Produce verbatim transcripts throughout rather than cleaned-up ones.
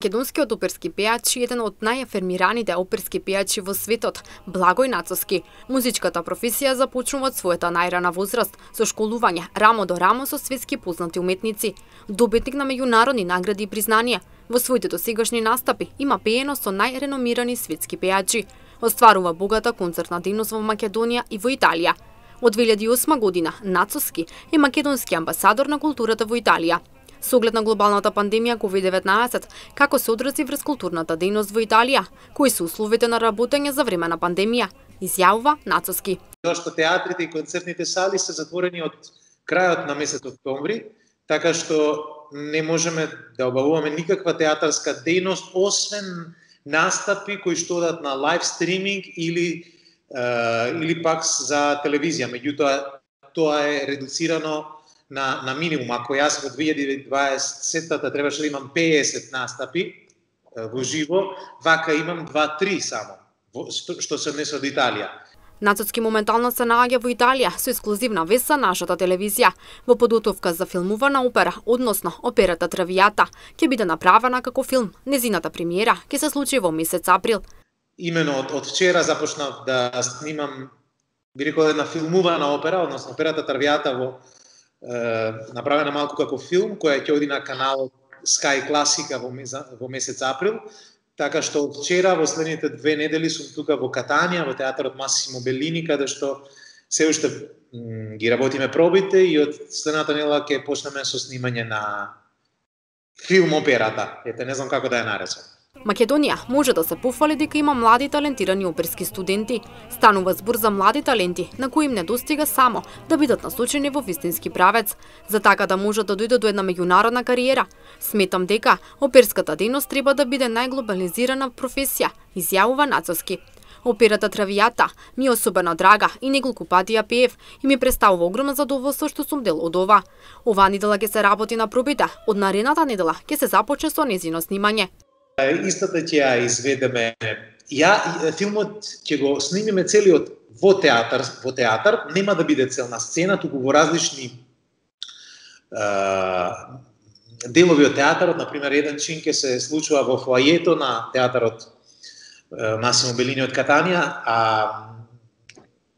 Македонскиот оперски пејач е еден од најафирмираните оперски пејачи во светот, Благој Нацовски. Музичката професија започнува од својата најрана возраст, со школување рамо до рамо со светски познати уметници. Добитник на меѓународни награди и признанија. Во своите досегашни настапи има пеено со најреномирани светски пејачи. Остварува богата концертна дејност во Македонија и во Италија. Од две илјади и осма година Нацовски е македонски амбасадор на културата во Италија. Со оглед на глобалната пандемија ковид деветнаесет, како се одрази врз културната дејност во Италија, кои се условите на работење за време на пандемија, изјавува Нацовски. Зашто театрите и концертните сали се затворени од крајот на месец октомври, така што не можеме да обавуваме никаква театарска дејност, освен настапи кои што одат на лайв стриминг или uh, или пак за телевизија. Меѓутоа, тоа е редуцирано на, на минимум. Ако јас во две илјади и дваесетта требаше да имам петдесет настапи во живо, вака имам два-три само, што се однесе од Италија. Нацовски моментално се наоѓа во Италија со ексклузивна вест за нашата телевизија, во подготовка за филмувана опера, односно операта Травијата, ќе биде направена како филм. Незината премиера ќе се случи во месец април. Имено од, од вчера започнав да снимам, би рекол, една филмувана опера, односно операта Травијата во направена малку како филм, која ќе оди на каналот Sky Classica во, во месец април, така што од вчера во следните две недели сум тука во Катанија, во театарот Масимо Беллини, каде што се уште ги работиме пробите и од следната недела ќе почнеме со снимање на филм операта. Ете, не знам како да ја наречам. Македонија може да се пофали дека има млади талентирани оперски студенти. Станува збор за млади таленти на кои им не достига само да бидат насочени во вистински правец, за така да можат да дојдат до една меѓународна кариера. Сметам дека оперската дејност треба да биде најглобализирана професија, изјавува Нацовски. Операта Травијата ми е особено драга и неколку пати ја пеев и ми представува огромно задоволство што сум дел од ова. Оваа недела ќе се работи на пробите, од наредната недела ќе се започне со незино снимање. Истата ќе ја изведеме. Ја филмот ќе го снимиме целиот во театар, во театар, нема да биде цел на сцена, туку во различни е, делови од театарот. Например, еден чин ќе се случува во фоајето на театарот е, Масимо Беллини од Катанија, а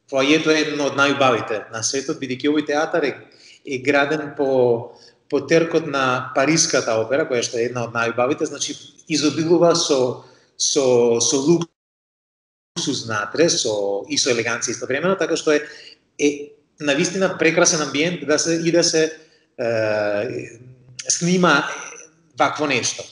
фоајето е едно од најубавите на светот, бидејќи овој театар е, е граден по по теркот на Париската опера, која што е една од најубавите, значи изобилува со со со луксус внатре, со и со елеганција истовремено, така што е е навистина прекрасен амбиент да се и да се е, снима вакво нешто.